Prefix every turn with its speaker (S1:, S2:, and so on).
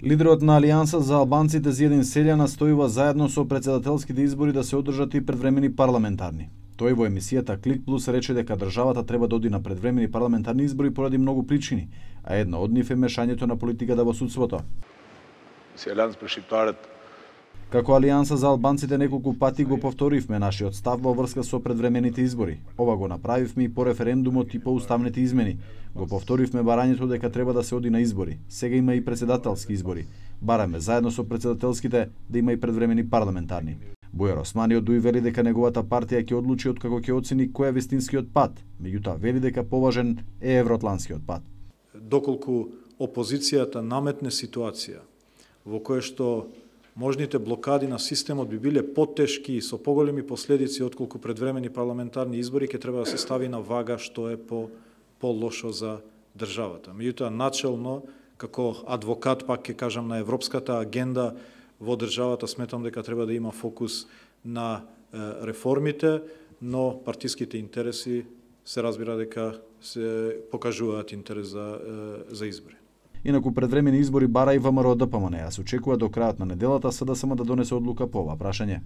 S1: Лидерот на Алијанса за албанците Зиедин Селја настојува заедно со претседателските избори да се одржат и предвремени парламентарни. Тој во емисијата Клик Плюс рече дека државата треба да оди на предвремени парламентарни избори поради многу причини, а една од нив е мешањето на политиката во судството. Како Алијанса за албанците неколку пати го повторивме нашиот став во врска со предвремените избори. Ова го направивме и по референдумот и по уставните измени. Го повторивме барањето дека треба да се оди на избори. Сега има и претседателски избори. Бараме заедно со претседателските да има и предвремени парламентарни. Бујар Османи од ДУИ вели дека неговата партија ќе одлучи откако ќе оцени кој е вистинскиот пат, меѓутоа вели дека поважен е евроатлантскиот пат.
S2: Доколку опозицијата наметне ситуација во која што можните блокади на системот би биле потешки и со поголеми последици отколку предвремени парламентарни избори, ќе треба да се стави на вага што е по-лошо за државата. Меѓутоа, начелно, како адвокат, пак ќе кажам, на европската агенда во државата, сметам дека треба да има фокус на реформите, но партиските интереси се разбира дека се покажуваат интерес за избори.
S1: Инаку предвремени избори бара и ВМРО ДПМН, а се очекува до крајот на неделата СДСМ да донесе одлука по ова прашање.